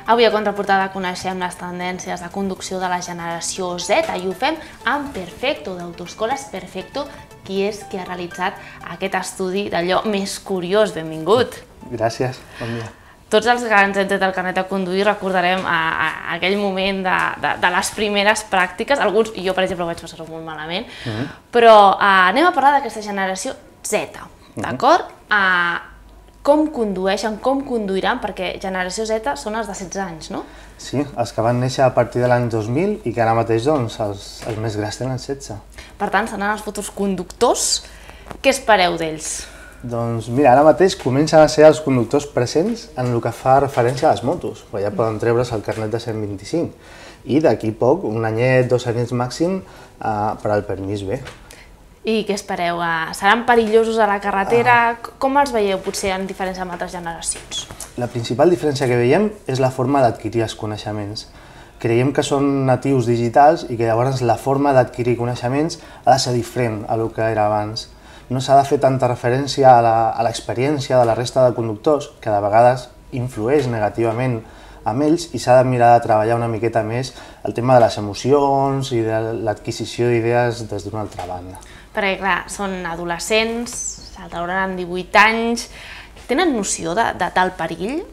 Avui a Contraportada coneixem les tendències de conducció de la generació Z i ho fem amb Perfecto, d'Autoescoles Perfecto, qui és qui ha realitzat aquest estudi d'allò més curiós. Benvingut! Gràcies, bon dia. Tots els que han tret el carnet de conduir recordarem aquell moment de les primeres pràctiques, alguns, jo per exemple ho vaig passar molt malament, però anem a parlar d'aquesta generació Z, d'acord? Com condueixen, com conduiran, perquè generació Z són els de 16 anys, no? Sí, els que van néixer a partir de l'any 2000 i que ara mateix doncs, els més grans tenen 16. Per tant, seran els futurs conductors. Què espereu d'ells? Doncs mira, ara mateix comencen a ser els conductors presents en el que fa referència a les motos, però ja poden treure's el carnet de 125 i d'aquí poc, un anyet, 2 anyets màxim, per al permís B. I què espereu? Seran perillosos a la carretera? Com els veieu, potser, en diferència amb altres generacions? La principal diferència que veiem és la forma d'adquirir els coneixements. Creiem que són natius digitals i que llavors la forma d'adquirir coneixements ha de ser diferent a el que era abans. No s'ha de fer tanta referència a l'experiència de la resta de conductors, que de vegades influeix negativament amb ells, i s'ha de mirar de treballar una miqueta més el tema de les emocions i de l'adquisició d'idees des d'una altra banda. Perquè, clar, són adolescents, s'altauran amb 18 anys, tenen noció de tal perill?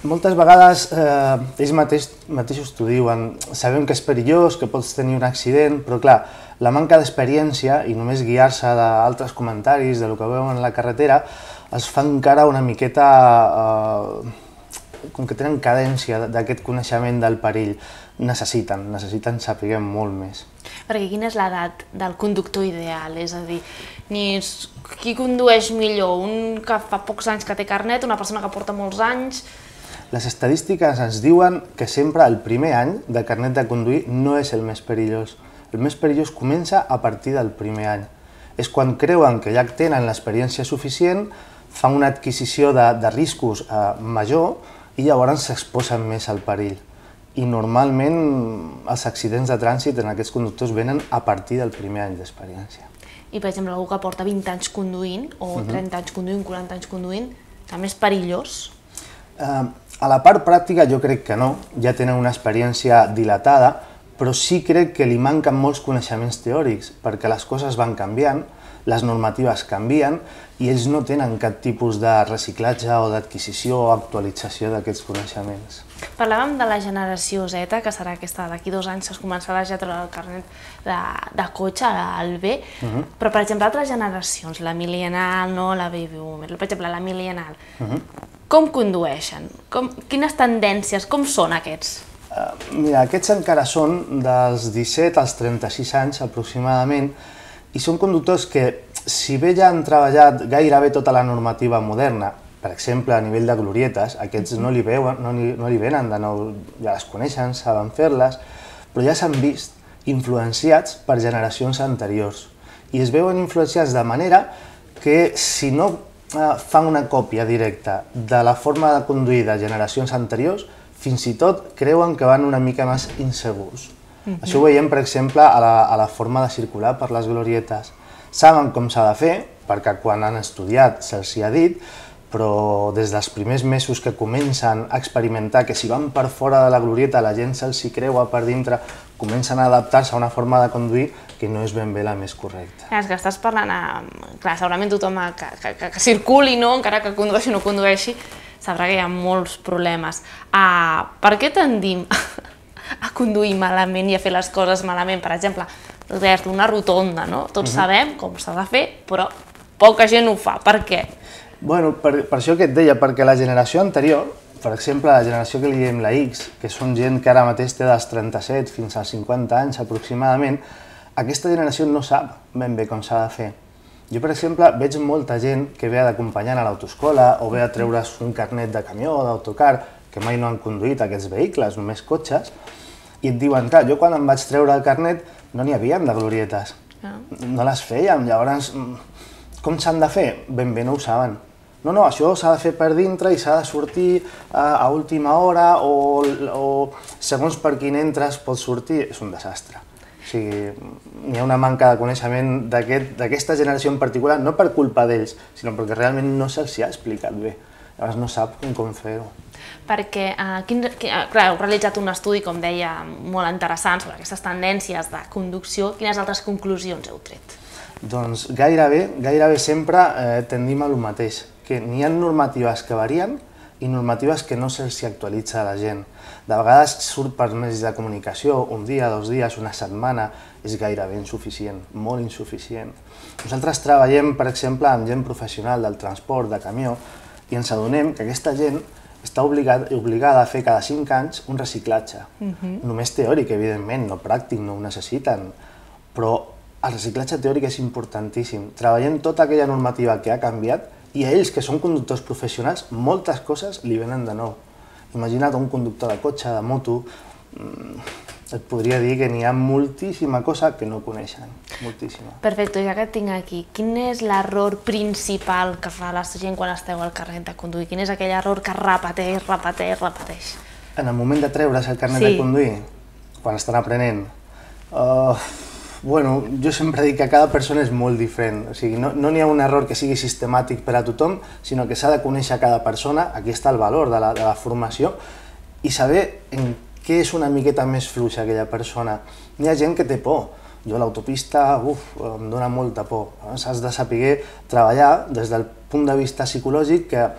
Moltes vegades ells mateixos t'ho diuen, sabem que és perillós, que pots tenir un accident, però clar, la manca d'experiència i només guiar-se d'altres comentaris, del que veuen a la carretera, els fa encara una miqueta, com que tenen cadència d'aquest coneixement del perill, necessiten saber molt més. Perquè quina és l'edat del conductor ideal? És a dir, qui condueix millor? Un que fa pocs anys que té carnet, una persona que porta molts anys? Les estadístiques ens diuen que sempre el primer any de carnet de conduir no és el més perillós. El més perillós comença a partir del primer any. És quan creuen que ja tenen l'experiència suficient, fan una adquisició de riscos major i llavors s'exposen més al perill. I normalment els accidents de trànsit en aquests conductors venen a partir del primer any d'experiència. I per exemple, algú que porta 20 anys conduint, o 30 anys conduint, 40 anys conduint, també és perillós? A la part pràctica jo crec que no, ja tenen una experiència dilatada, però sí crec que li manquen molts coneixements teòrics, perquè les coses van canviant, les normatives canvien i ells no tenen cap tipus de reciclatge o d'adquisició o actualització d'aquests coneixements. Parlàvem de la generació Z, que serà aquesta d'aquí 2 anys que es començarà ja a treure el carnet de cotxe, el B, però per exemple altres generacions, la millennial, no la baby boomer, per exemple la millennial, com condueixen? Quines tendències, com són aquests? Mira, aquests encara són dels 17 als 36 anys aproximadament i són conductors que, si bé ja han treballat gairebé tota la normativa moderna, per exemple, a nivell de glorietes, aquests no li venen de nou, ja les coneixen, saben fer-les, però ja s'han vist influenciats per generacions anteriors. I es veuen influenciats de manera que, si no fan una còpia directa de la forma de conduir de generacions anteriors, fins i tot creuen que van una mica més insegurs. Això ho veiem, per exemple, a la forma de circular per les glorietes. Saben com s'ha de fer, perquè quan han estudiat se'ls hi ha dit, però des dels primers mesos que comencen a experimentar que si van per fora de la glorieta la gent se'ls hi creua per dintre, comencen a adaptar-se a una forma de conduir que no és ben bé la més correcta. És que estàs parlant, clar, segurament tothom que circuli, encara que condueixi o no condueixi, sabrà que hi ha molts problemes. Per què tendim a conduir malament i a fer les coses malament? Per exemple, una rotonda, no? Tots sabem com s'ha de fer, però poca gent ho fa. Per què? Bueno, per això que et deia, perquè la generació anterior, per exemple, la generació que li diem la X, que són gent que ara mateix té dels 37 fins als 50 anys aproximadament, aquesta generació no sap ben bé com s'ha de fer. Jo, per exemple, veig molta gent que ve d'acompanyant a l'autoescola o ve a treure's un carnet de camió o d'autocar, que mai no han conduït aquests vehicles, només cotxes, i et diuen, clar, jo quan em vaig treure el carnet no n'hi havia de glorietes, no les fèiem, llavors com s'han de fer? Ben bé no ho saben. No, això s'ha de fer per dintre i s'ha de sortir a última hora o segons per quin entres pots sortir, és un desastre. O sigui, hi ha una manca de coneixement d'aquesta generació en particular, no per culpa d'ells, sinó perquè realment no se'ls ha explicat bé. llavors no sap com fer-ho. Perquè, clar, heu realitzat un estudi, com deia, molt interessant sobre aquestes tendències de conducció. Quines altres conclusions heu tret? Doncs gairebé sempre tendim a lo mateix, que n'hi ha normatives que varien i normatives que no se'ls actualitza a la gent. De vegades surt per mitjans de comunicació, un dia, 2 dies, una setmana, és gairebé insuficient, molt insuficient. Nosaltres treballem, per exemple, amb gent professional del transport, de camió, i ens adonem que aquesta gent està obligada a fer cada 5 anys un reciclatge. Només teòric, evidentment, no pràctic, no ho necessiten, però el reciclatge teòric és importantíssim. Treballem tota aquella normativa que ha canviat i a ells, que són conductors professionals, moltes coses li venen de nou. Imagina't un conductor de cotxe, de moto, et podria dir que n'hi ha moltíssima cosa que no coneixen, moltíssima. Perfecte, ja que et tinc aquí, quin és l'error principal que fa la gent quan esteu al carnet de conduir? Quin és aquell error que repeteix? En el moment de treure's el carnet de conduir, quan estan aprenent, bueno, jo sempre dic que cada persona és molt diferent, o sigui, no n'hi ha un error que sigui sistemàtic per a tothom, sinó que s'ha de conèixer cada persona, aquí està el valor de la formació, i saber en què és una miqueta més fluixa aquella persona. N'hi ha gent que té por, jo a l'autopista, em dóna molta por, has de saber treballar des del punt de vista psicològic que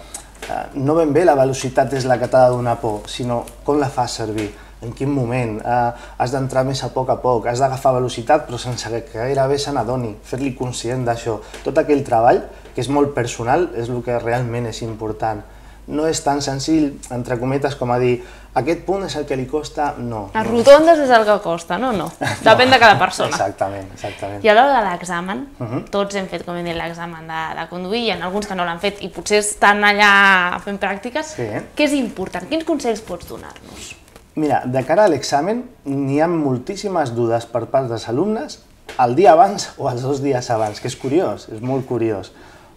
no ben bé la velocitat és la que t'ha de donar por, sinó com la fas servir. En quin moment, has d'entrar més a poc, has d'agafar velocitat però sense que gairebé se n'adoni, fer-li conscient d'això. Tot aquell treball, que és molt personal, és el que realment és important. No és tan senzill, entre cometes, com a dir aquest punt és el que li costa, no. Les rotondes és el que costa, no? No, depèn de cada persona. Exactament. I a l'hora de l'examen, tots hem fet, com hem dit, l'examen de conduir, hi ha alguns que no l'han fet i potser estan allà fent pràctiques. Què és important? Quins consells pots donar-nos? Mira, de cara a l'examen n'hi ha moltíssimes dudes per part dels alumnes el dia abans o els 2 dies abans, que és curiós, és molt curiós.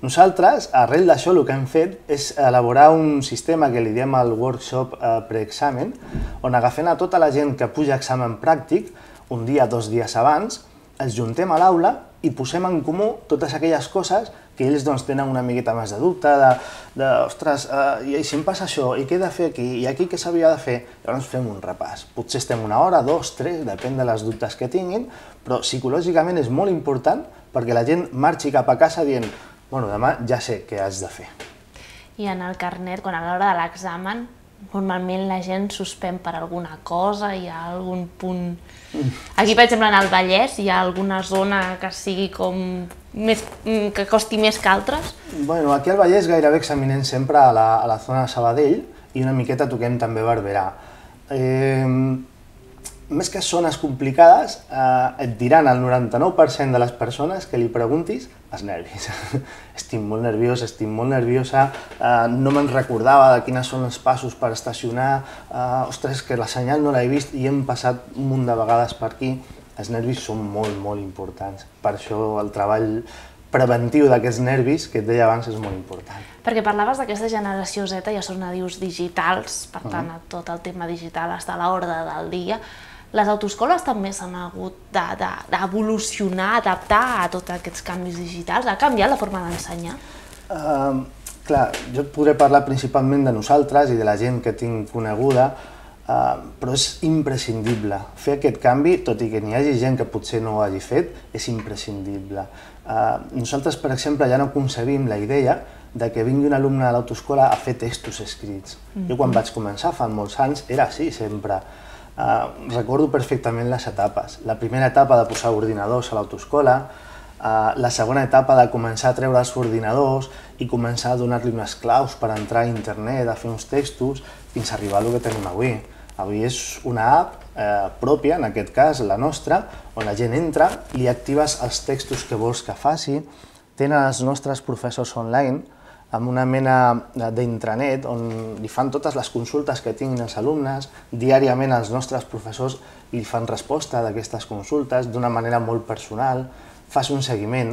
Nosaltres, arrel d'això, el que hem fet és elaborar un sistema que li diem el workshop preexamen, on agafem a tota la gent que puja a examen pràctic, un dia, 2 dies abans, els juntem a l'aula i posem en comú totes aquelles coses que ells tenen una miqueta més de dubte, ostres, i si em passa això, i què he de fer aquí, i aquí què s'havia de fer? Llavors fem un repàs. Potser estem 1 hora, 2, 3, depèn de les dubtes que tinguin, però psicològicament és molt important perquè la gent marxi cap a casa dient bueno, demà ja sé què has de fer. I en el carnet, quan a l'hora de l'examen, normalment la gent suspèn per alguna cosa, hi ha algun punt... Aquí, per exemple, en el Vallès, hi ha alguna zona que sigui com... que costi més que altres? Bueno, aquí al Vallès gairebé examinem sempre a la zona de Sabadell i una miqueta toquem també Barberà. Més que zones complicades, et diran el 99% de les persones que li preguntis els nervis. Estic molt nerviós, estic molt nerviosa, no me'n recordava de quines són els passos per estacionar, ostres, que la senyal no l'he vist i hem passat un munt de vegades per aquí. Els nervis són molt, molt importants. Per això el treball preventiu d'aquests nervis, que et deia abans, és molt important. Perquè parlaves d'aquesta generació Z, ja són nadius digitals, per tant, tot el tema digital està a l'ordre del dia. Les autoescoles també s'han hagut d'evolucionar, adaptar a tots aquests canvis digitals. Ha canviat la forma d'ensenyar? Clar, jo podré parlar principalment de nosaltres i de la gent que tinc coneguda, però és imprescindible. Fer aquest canvi, tot i que n'hi hagi gent que potser no ho hagi fet, és imprescindible. Nosaltres, per exemple, ja no concebim la idea de que vingui un alumne a l'autoescola a fer textos escrits. Jo quan vaig començar, fa molts anys, era així sempre. Recordo perfectament les etapes. La primera etapa de posar ordinadors a l'autoescola, la segona etapa de començar a treure els ordinadors i començar a donar-li unes claus per entrar a internet, a fer uns textos, fins a arribar al que tenim avui. Avui és una app pròpia, en aquest cas la nostra, on la gent entra, li actives els textos que vols que faci, tenen els nostres professors online, amb una mena d'intranet on li fan totes les consultes que tinguin els alumnes, diàriament els nostres professors li fan resposta d'aquestes consultes d'una manera molt personal, fas un seguiment.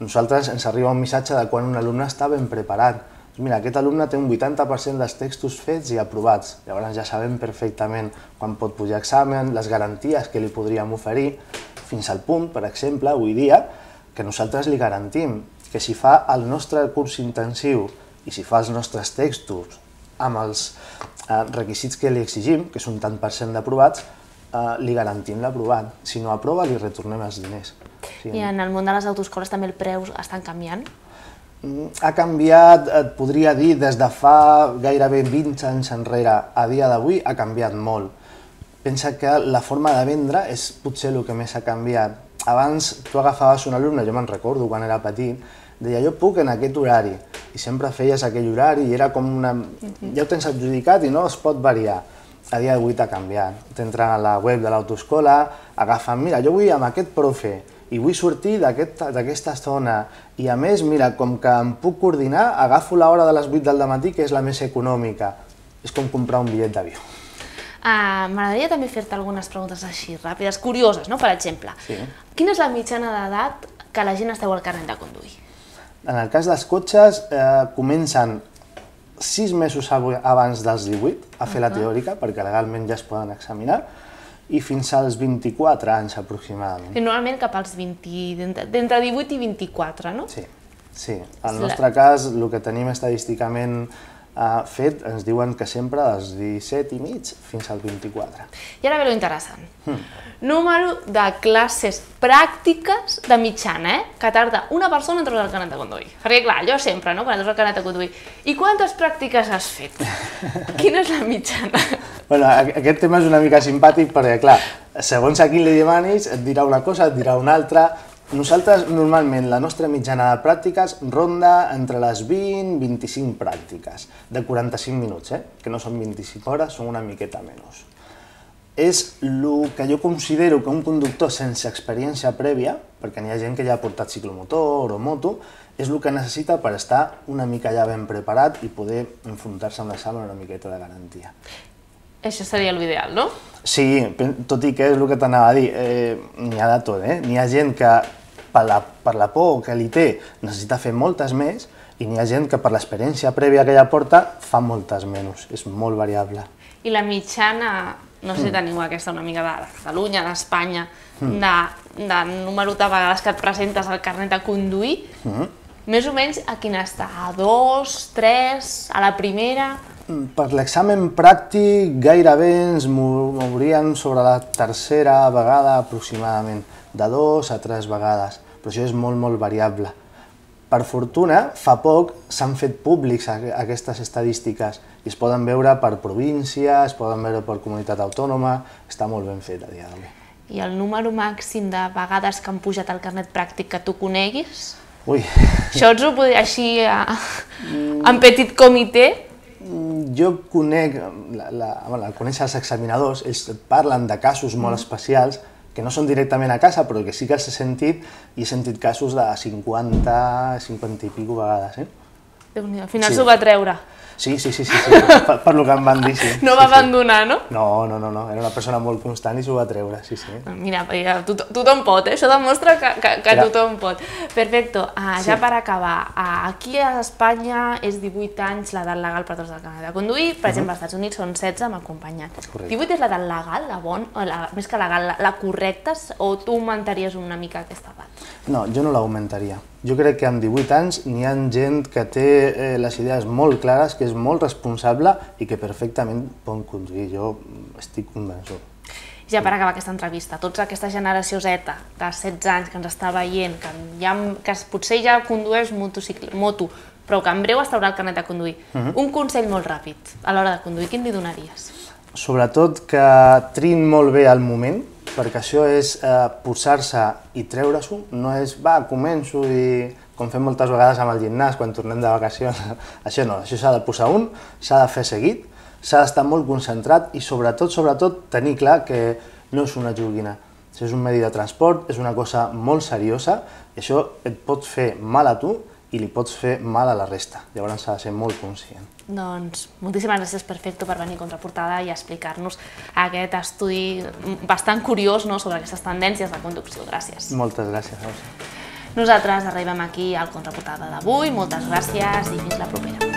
Nosaltres ens arriba un missatge de quan un alumne està ben preparat. Mira, aquest alumne té un 80% dels textos fets i aprovats, llavors ja sabem perfectament quan pot pujar a examen, les garanties que li podríem oferir, fins al punt, per exemple, avui dia, que nosaltres li garantim que si fa el nostre curs intensiu i si fa els nostres textos amb els requisits que li exigim, que és un tant per cent d'aprovats, li garantim l'aprovat. Si no aprova, li retornem els diners. I en el món de les autoescoles també els preus estan canviant? Ha canviat, et podria dir, des de fa gairebé 20 anys enrere a dia d'avui, ha canviat molt. Pensa que la forma de vendre és potser el que més ha canviat. Abans tu agafaves un alumne, jo me'n recordo quan era petit, deia jo puc en aquest horari, i sempre feies aquell horari i era com una... ja ho tens adjudicat i no es pot variar. A dia d'avui t'ha canviat. T'entra a la web de l'autoescola, agafen, mira, jo vull amb aquest profe, i vull sortir d'aquesta zona, i a més, mira, com que em puc coordinar, agafo l'hora de les 8 del matí, que és la més econòmica. És com comprar un bitllet d'avió. M'agradaria també fer-te algunes preguntes així ràpides, curioses, no? Per exemple, quina és la mitjana d'edat que la gent es treu el carnet de conduir? En el cas dels cotxes, comencen 6 mesos abans dels 18 a fer la teòrica, perquè legalment ja es poden examinar, i fins als 24 anys aproximadament. I normalment cap als 20, d'entre 18 i 24, no? Sí, sí. En el nostre cas, el que tenim estadísticament fet, ens diuen que sempre dels 17 i mig fins al 24. I ara ve lo interessant. Número de classes pràctiques de mitjana, que tarda una persona en treure el carnet de conduir. Perquè clar, jo sempre, no?, quan treus el carnet de conduir. I quantes pràctiques has fet? Quina és la mitjana? Bueno, aquest tema és una mica simpàtic perquè, clar, segons a qui li demanis, et dirà una cosa, et dirà una altra. Nosaltres, normalment, la nostra mitjana de pràctiques ronda entre les 20 i 25 pràctiques, de 45 minuts, que no són 25 hores, són una miqueta menys. És el que jo considero que un conductor sense experiència prèvia, perquè n'hi ha gent que ja ha portat ciclomotor o moto, és el que necessita per estar una mica ja ben preparat i poder enfrontar-se amb l'examen una miqueta de garantia. Això seria l'ideal, no? Sí, tot i que és el que t'anava a dir, n'hi ha de tot, N'hi ha gent que per la por que li té necessita fer moltes més i n'hi ha gent que per l'experiència prèvia que ja porta fa moltes menys, és molt variable. I la mitjana, no sé si teniu aquesta una mica de Catalunya, d'Espanya, de número de vegades que et presentes al carnet de conduir, més o menys a quina està? A 2, 3, a la primera? Per l'examen pràctic gairebé ens mouríem sobre la tercera vegada aproximadament, de 2 a 3 vegades, però això és molt variable. Per fortuna, fa poc s'han fet públics aquestes estadístiques i es poden veure per província, es poden veure per comunitat autònoma, està molt ben fet a dia d'avui. I el número màxim de vegades que han pujat al carnet pràctic que tu coneguis? Ui! Això ets ho podria així, en petit comitè? Jo conec, al conèixer els examinadors, ells parlen de casos molt especials que no són directament a casa, però que sí que els he sentit, i he sentit casos de 50 i pico vegades. Déu-n'hi-do, al final s'ho va treure. Sí, per lo que em van dir, sí. No va abandonar, no? No, era una persona molt constant i s'ho va treure, sí. Mira, tothom pot, això demostra que tothom pot. Perfecte, ja per acabar, aquí a Espanya és 18 anys l'edat legal per tots el carnet de conduir, per exemple, als Estats Units són 16 amb acompanyant. 18 és l'edat legal, més que legal, la correcta, o tu augmentaries una mica aquesta edat? No, jo no l'augmentaria. Jo crec que amb 18 anys n'hi ha gent que té les idees molt clares, que és molt responsable i que perfectament pot conduir. Jo estic convençut. Ja per acabar aquesta entrevista, tota aquesta generació Z de 16 anys que ens està veient, que potser ja condueix moto, però que en breu es traurà el carnet de conduir, un consell molt ràpid a l'hora de conduir, quin li donaries? Sobretot que triïn molt bé el moment, perquè això és posar-se i treure-s'ho, no és, va, començo i com fem moltes vegades amb el gimnàs quan tornem de vacacions, això no, això s'ha de posar s'ha de fer seguit, s'ha d'estar molt concentrat i sobretot tenir clar que no és una joguina. Això és un medi de transport, és una cosa molt seriosa i això et pot fer mal a tu i li pots fer mal a la resta, llavors s'ha de ser molt conscient. Doncs moltíssimes gràcies, Perfecto, per venir a Contraportada i explicar-nos aquest estudi bastant curiós sobre aquestes tendències de conducció. Gràcies. Moltes gràcies, Rosa. Nosaltres arribem aquí al Contraportada d'avui, moltes gràcies i fins la propera.